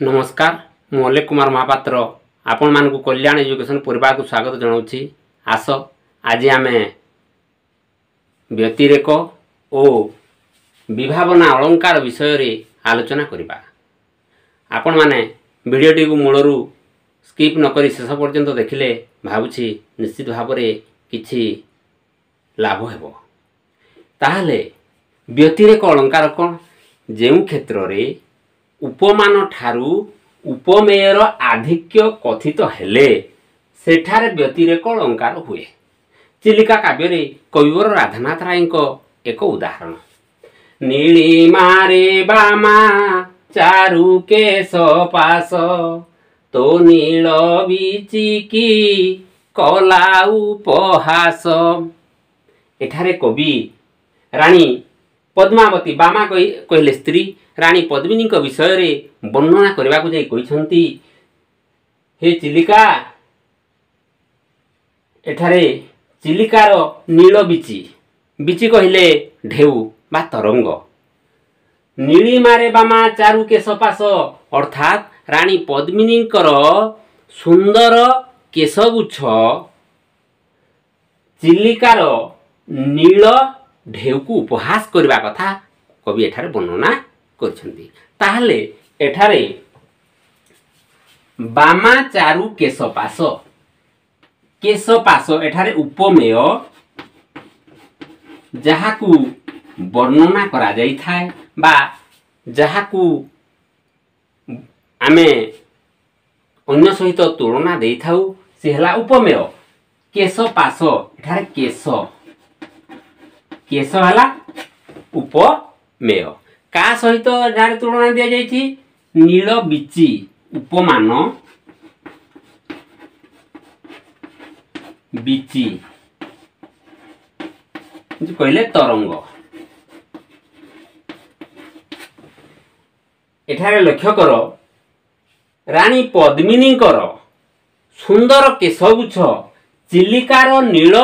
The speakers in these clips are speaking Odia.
ନମସ୍କାର, ମୁଁ ଅଲେଖ କୁମାର ମହାପାତ୍ର ଆପଣମାନଙ୍କୁ କଲ୍ୟାଣ ଏଜୁକେସନ୍ ପରିବାରକୁ ସ୍ୱାଗତ ଜଣାଉଛି। ଆସ, ଆଜି ଆମେ ବ୍ୟତିରେକ ଓ ବିଭାବନା ଅଳଙ୍କାର ବିଷୟରେ ଆଲୋଚନା କରିବା। ଆପଣମାନେ ଭିଡ଼ିଓଟିକୁ ମୂଳରୁ ସ୍କିପ୍ ନକରି ଶେଷ ପର୍ଯ୍ୟନ୍ତ ଦେଖିଲେ ଭାବୁଛି ନିଶ୍ଚିତ ଭାବରେ କିଛି ଲାଭ ହେବ। ତାହେଲେ ବ୍ୟତିରେକ ଅଳଙ୍କାର କ'ଣ? ଯେଉଁ କ୍ଷେତ୍ରରେ ଉପମାନ ଠାରୁ ଉପମେୟର ଆଧିକ୍ୟ କଥିତ ହେଲେ ସେଠାରେ ବ୍ୟତିରେକ ଅଳଙ୍କାର ହୁଏ। ଚିଲିକା କାବ୍ୟରେ କବିବର ରାଧାନାଥ ରାୟଙ୍କ ଏକ ଉଦାହରଣ। ନୀଳିମାରେ ବାମା ଚାରୁ କେଶ ପାଶ, ତୋ ନୀଳ ବିଚିକି କଲା ଉପହାସ। ଏଠାରେ କବି ରାଣୀ ପଦ୍ମାବତୀ, ବାମା କହିଲେ ସ୍ତ୍ରୀ, ରାଣୀ ପଦ୍ମିନୀଙ୍କ ବିଷୟରେ ବର୍ଣ୍ଣନା କରିବାକୁ ଯାଇ କହିଛନ୍ତି, ହେ ଚିଲିକା, ଏଠାରେ ଚିଲିକାର ନୀଳ ବିଚି, ବିଚି କହିଲେ ଢେଉ ବା ତରଙ୍ଗ, ନୀଳିମାରେ ବାମା ଚାରୁ କେଶ ପାଶ, ଅର୍ଥାତ୍ ରାଣୀ ପଦ୍ମିନୀଙ୍କର ସୁନ୍ଦର କେଶଗୁଚ୍ଛ ଚିଲିକାର ନୀଳ ଢେଉକୁ ଉପହାସ କରିବା କଥା କବି ଏଠାରେ ବର୍ଣ୍ଣନା କରିଛନ୍ତି। ତାହେଲେ ଏଠାରେ ବାମା ଚାରୁ କେଶ ପାଶ, କେଶ ପାଶ ଏଠାରେ ଉପମେୟ, ଯାହାକୁ ବର୍ଣ୍ଣନା କରାଯାଇଥାଏ ବା ଯାହାକୁ ଆମେ ଅନ୍ୟ ସହିତ ତୁଳନା ଦେଇଥାଉ, ସେ ହେଲା ଉପମେୟ। କେଶ ପାଶ, ଏଠାରେ କେଶ, କେଶ ହେଲା ଉପମେୟ। କାହା ସହିତ ଏଠାରେ ତୁଳନା ଦିଆଯାଇଛି? ନୀଳ ବିଚି, ଉପମାନ ବିଚି କହିଲେ ତରଙ୍ଗ। ଏଠାରେ ଲକ୍ଷ୍ୟ କର, ରାଣୀ ପଦ୍ମିନୀଙ୍କର ସୁନ୍ଦର କେଶଗୁଚ୍ଛ ଚିଲିକାର ନୀଳ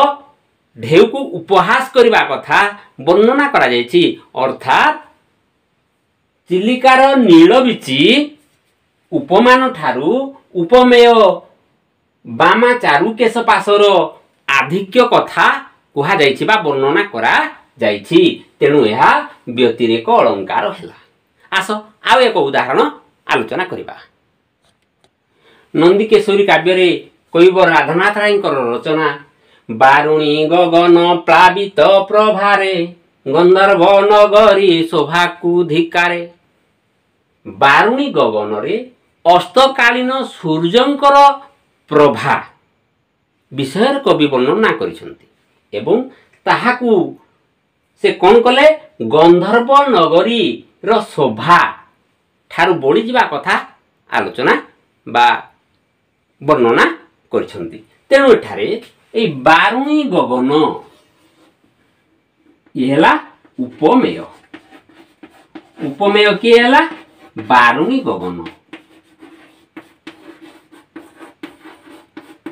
ଢେଉକୁ ଉପହାସ କରିବା କଥା ବର୍ଣ୍ଣନା କରାଯାଇଛି। ଅର୍ଥାତ୍ ଚିଲିକାର ନୀଳ ବିଚି ଉପମାନ ଠାରୁ ଉପମେୟ ବାମା ଚାରୁକେଶ ପାଶର ଆଧିକ୍ୟ କଥା କୁହାଯାଇଛି ବା ବର୍ଣ୍ଣନା କରାଯାଇଛି। ତେଣୁ ଏହା ବ୍ୟତିରେକ ଅଳଙ୍କାର ହେଲା। ଆସ, ଆଉ ଏକ ଉଦାହରଣ ଆଲୋଚନା କରିବା। ନନ୍ଦିକେଶ୍ୱରୀ କାବ୍ୟରେ କବିବର ରାଧାନାଥ ରାୟଙ୍କର ରଚନା। ବାରୁଣୀ ଗଗନ ପ୍ଲାବିତ ପ୍ରଭାରେ, ଗନ୍ଧର୍ବ ନଗରୀ ଶୋଭାକୁ ଧିକାରେ। ବାରୁଣୀ ଗଗନରେ ଅସ୍ତକାଳୀନ ସୂର୍ଯ୍ୟଙ୍କର ପ୍ରଭା ବିଷୟରେ କବି ବର୍ଣ୍ଣନା କରିଛନ୍ତି ଏବଂ ତାହାକୁ ସେ କ'ଣ କଲେ? ଗନ୍ଧର୍ବ ନଗରୀର ଶୋଭା ଠାରୁ ବଳିଯିବା କଥା ଆଲୋଚନା ବା ବର୍ଣ୍ଣନା କରିଛନ୍ତି। ତେଣୁ ଏଠାରେ ଏଇ ବାରୁଣୀ ଗଗନ ଇଏ ହେଲା ଉପମେୟ। ଉପମେୟ କିଏ ହେଲା? ବାରୁଣୀ ଗଗନ।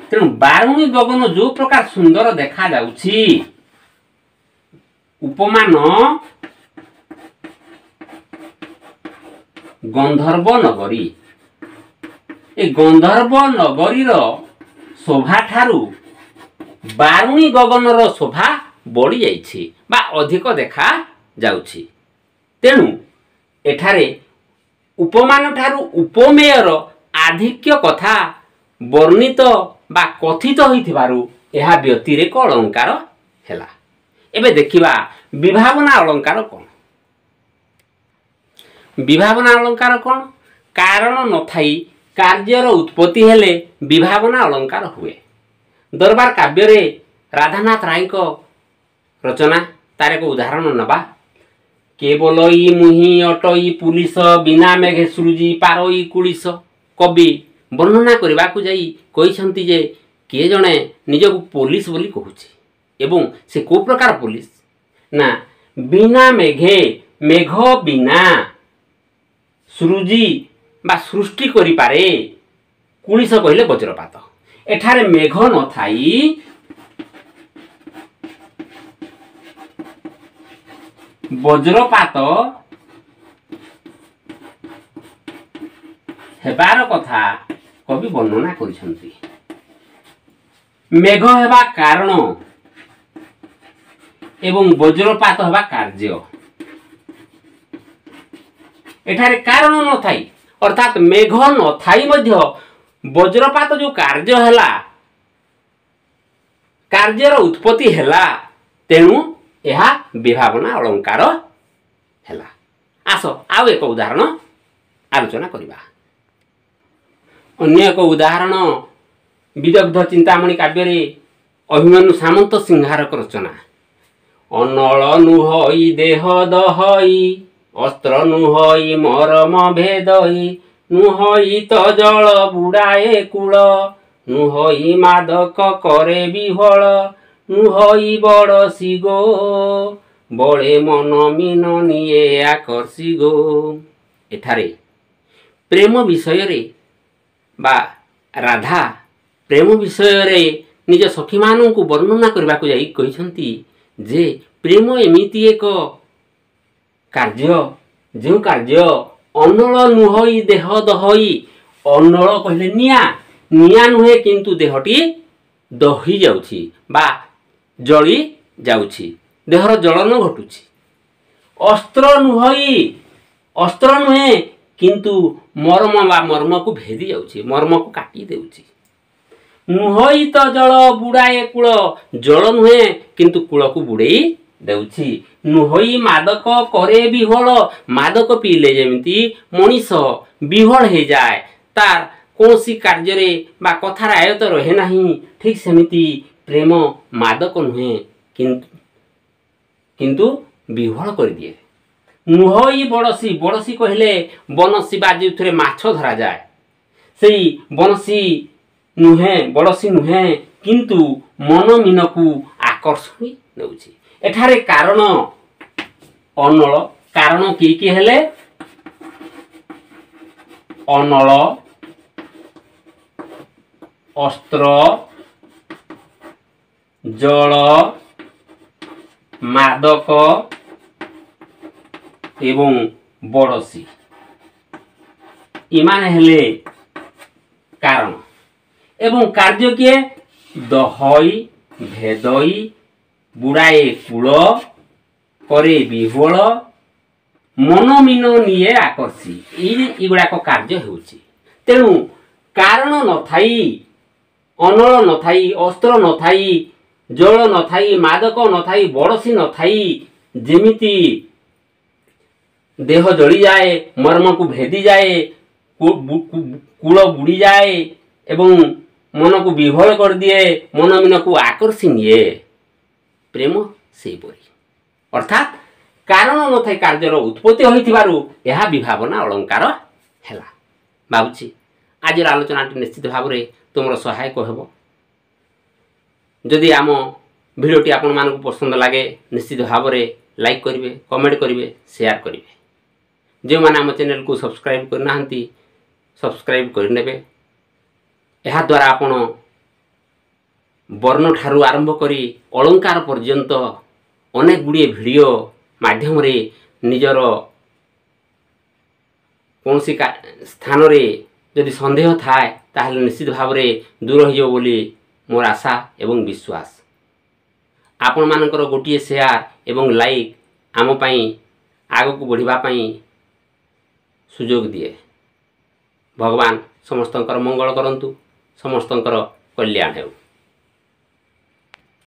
ତେଣୁ ବାରୁଣୀ ଗଗନ ଯୋଉ ପ୍ରକାର ସୁନ୍ଦର ଦେଖାଯାଉଛି, ଉପମାନ ଗନ୍ଧର୍ବ ନଗରୀ, ଏ ଗନ୍ଧର୍ବ ନଗରୀର ଶୋଭା ଠାରୁ ବାରୁଣୀ ଗଗନର ଶୋଭା ବଢ଼ିଯାଇଛି ବା ଅଧିକ ଦେଖା ଯାଉଛି। ତେଣୁ ଏଠାରେ ଉପମାନ ଠାରୁ ଉପମେୟର ଆଧିକ୍ୟ କଥା ବର୍ଣ୍ଣିତ ବା କଥିତ ହୋଇଥିବାରୁ ଏହା ବ୍ୟତିରେକ ଅଳଙ୍କାର ହେଲା। ଏବେ ଦେଖିବା ବିଭାବନା ଅଳଙ୍କାର କ'ଣ। ବିଭାବନା ଅଳଙ୍କାର କ'ଣ? କାରଣ ନଥାଇ କାର୍ଯ୍ୟର ଉତ୍ପତ୍ତି ହେଲେ ବିଭାବନା ଅଳଙ୍କାର ହୁଏ। ଦରବାର କାବ୍ୟରେ ରାଧାନାଥ ରାୟଙ୍କ ରଚନା, ତାର ଏକ ଉଦାହରଣ ନେବା। କେବଲଇ ମୁହିଁ ଅଟଇ ପୁଲିସ, ବିନା ମେଘେ ସୃଜି ପାରଇ କୁଳିସ। କବି ବର୍ଣ୍ଣନା କରିବାକୁ ଯାଇ କହିଛନ୍ତି ଯେ କିଏ ଜଣେ ନିଜକୁ ପୋଲିସ ବୋଲି କହୁଛି ଏବଂ ସେ କେଉଁ ପ୍ରକାର ପୋଲିସ ନା ବିନା ମେଘେ, ମେଘ ବିନା ସୃଜି ବା ସୃଷ୍ଟି କରିପାରେ। କୁଳିସ କହିଲେ ବଜ୍ରପାତ। ଏଠାରେ ମେଘ ନଥାଇ ବଜ୍ରପାତ ହେବାର କଥା କବି ବର୍ଣ୍ଣନା କରିଛନ୍ତି। ମେଘ ହେବା କାରଣ ଏବଂ ବଜ୍ରପାତ ହେବା କାର୍ଯ୍ୟ। ଏଠାରେ କାରଣ ନଥାଇ, ଅର୍ଥାତ୍ ମେଘ ନଥାଇ ମଧ୍ୟ ବଜ୍ରପାତ ଯେଉଁ କାର୍ଯ୍ୟ ହେଲା, କାର୍ଯ୍ୟର ଉତ୍ପତ୍ତି ହେଲା, ତେଣୁ ଏହା ବିଭାବନା ଅଳଙ୍କାର ହେଲା। ଆସ ଆଉ ଏକ ଉଦାହରଣ ଆଲୋଚନା କରିବା। ଅନ୍ୟ ଏକ ଉଦାହରଣ ବିଦଗ୍ଧ ଚିନ୍ତାମଣି କାବ୍ୟରେ ଅଭିମନ୍ୟୁ ସାମନ୍ତ ସିଂହାରକ ରଚନା। ଅନଳ ନୁହଇ ଦେହ ଦହଇ, ଅସ୍ତ୍ର ନୁହଇ ମରମ ଭେଦଇ, ନୁହଇ ତ ଜଳ ବୁଡ଼ାଏ କୂଳ, ନୁହଇ ମାଦକ କରେ ବିହ୍ୱଳ, ନୁହଇ ବଡ଼ସି ଗୋ, ବଳେ ମନ ମୀନ ନିଏ ଆକର୍ଷି ଗୋ। ଏଠାରେ ପ୍ରେମ ବିଷୟରେ ବା ରାଧା ପ୍ରେମ ବିଷୟରେ ନିଜ ସଖୀମାନଙ୍କୁ ବର୍ଣ୍ଣନା କରିବାକୁ ଯାଇ କହିଛନ୍ତି ଯେ ପ୍ରେମ ଏମିତି ଏକ କାର୍ଯ୍ୟ, ଯେଉଁ କାର୍ଯ୍ୟ ଅନଳ ନୁହଇ ଦେହ ଦହଇ। ଅନଳ କହିଲେ ନିଆଁ, ନିଆଁ ନୁହେଁ କିନ୍ତୁ ଦେହଟି ଦହି ଯାଉଛି ବା ଜଳି ଯାଉଛି, ଦେହର ଜଳନ ଘଟୁଛି। ଅସ୍ତ୍ର ନୁହଇ, ଅସ୍ତ୍ର ନୁହେଁ କିନ୍ତୁ ମର୍ମ ବା ମର୍ମକୁ ଭେଦି ଯାଉଛି, ମର୍ମକୁ କାଟି ଦେଉଛି। ନୁହଇ ତ ଜଳ ବୁଡ଼ାଏ କୂଳ, ଜଳ ନୁହେଁ କିନ୍ତୁ କୂଳକୁ ବୁଡ଼େଇ ଦେଉଛି। ନୁହଇ ମାଦକ କରେ ବିହ୍ୱଳ, ମାଦକ ପିଇଲେ ଯେମିତି ମଣିଷ ବିହ୍ୱଳ ହେଇଯାଏ, ତାର କୌଣସି କାର୍ଯ୍ୟରେ ବା କଥାର ଆୟତ ରହେ ନାହିଁ, ଠିକ୍ ସେମିତି ପ୍ରେମ ମାଦକ ନୁହେଁ କିନ୍ତୁ ବିହ୍ୱଳ କରିଦିଏ। ନୁହଇ ବଡ଼ଶୀ, ବଡ଼ଶୀ କହିଲେ ବନଶୀ ବା ଯେଉଁଥିରେ ମାଛ ଧରାଯାଏ, ସେଇ ବନଶୀ ନୁହେଁ, ବଡ଼ଶୀ ନୁହେଁ କିନ୍ତୁ ମନ ମୀନକୁ ଆକର୍ଷଣୀ ନେଉଛି। ଏଠାରେ କାରଣ ଅନଳ, କାରଣ କି କି ହେଲେ? ଅନଳ, ଅସ୍ତ୍ର, ଜଳ, ମାଦକ ଏବଂ ବଡ଼ଶୀ, ଏମାନେ ହେଲେ କାରଣ। ଏବଂ କାର୍ଯ୍ୟ କିଏ? ଦହଇ, ଭେଦଇ, ବୁଡ଼ାଏ କୂଳ, କରେ ବିହ୍ୱଳ, ମନ ମୀନ ନିଏ ଆକର୍ଷି, ଏଇଗୁଡ଼ାକ କାର୍ଯ୍ୟ ହେଉଛି। ତେଣୁ କାରଣ ନଥାଇ, ଅନଳ ନଥାଇ, ଅସ୍ତ୍ର ନଥାଇ, ଜଳ ନଥାଇ, ମାଦକ ନଥାଇ, ବଡ଼ଶୀ ନଥାଇ ଯେମିତି ଦେହ ଜଳିଯାଏ, ମର୍ମକୁ ଭେଦିଯାଏ, କୂଳ ବୁଡ଼ିଯାଏ ଏବଂ ମନକୁ ବିହ୍ୱଳ କରିଦିଏ, ମନ ମୀନକୁ ଆକର୍ଷି ନିଏ, ପ୍ରେମ ସେହିପରି। ଅର୍ଥାତ୍ କାରଣ ନଥାଇ କାର୍ଯ୍ୟର ଉତ୍ପତ୍ତି ହୋଇଥିବାରୁ ଏହା ବିଭାବନା ଅଳଙ୍କାର ହେଲା। ଭାବୁଛି ଆଜିର ଆଲୋଚନାଟି ନିଶ୍ଚିତ ଭାବରେ ତୁମର ସହାୟକ ହେବ। ଯଦି ଆମ ଭିଡ଼ିଓଟି ଆପଣମାନଙ୍କୁ ପସନ୍ଦ ଲାଗେ, ନିଶ୍ଚିତ ଭାବରେ ଲାଇକ୍ କରିବେ, କମେଣ୍ଟ କରିବେ, ସେୟାର କରିବେ। ଯେଉଁମାନେ ଆମ ଚ୍ୟାନେଲକୁ ସବସ୍କ୍ରାଇବ୍ କରିନାହାନ୍ତି, ସବସ୍କ୍ରାଇବ୍ କରିନେବେ। ଏହାଦ୍ୱାରା ଆପଣ ବର୍ଣ୍ଣଠାରୁ ଆରମ୍ଭ କରି ଅଳଙ୍କାର ପର୍ଯ୍ୟନ୍ତ ଅନେକ ଗୁଡ଼ିଏ ଭିଡ଼ିଓ ମାଧ୍ୟମରେ ନିଜର କୌଣସି ସ୍ଥାନରେ ଯଦି ସନ୍ଦେହ ଥାଏ, ତାହେଲେ ନିଶ୍ଚିତ ଭାବରେ ଦୂର ହୋଇଯିବ ବୋଲି ମୋର ଆଶା ଏବଂ ବିଶ୍ୱାସ। ଆପଣମାନଙ୍କର ଗୋଟିଏ ସେୟାର ଏବଂ ଲାଇକ୍ ଆମ ପାଇଁ ଆଗକୁ ବଢ଼ିବା ପାଇଁ ସୁଯୋଗ ଦିଏ। ଭଗବାନ ସମସ୍ତଙ୍କର ମଙ୍ଗଳ କରନ୍ତୁ, ସମସ୍ତଙ୍କର କଲ୍ୟାଣ ହେଉ।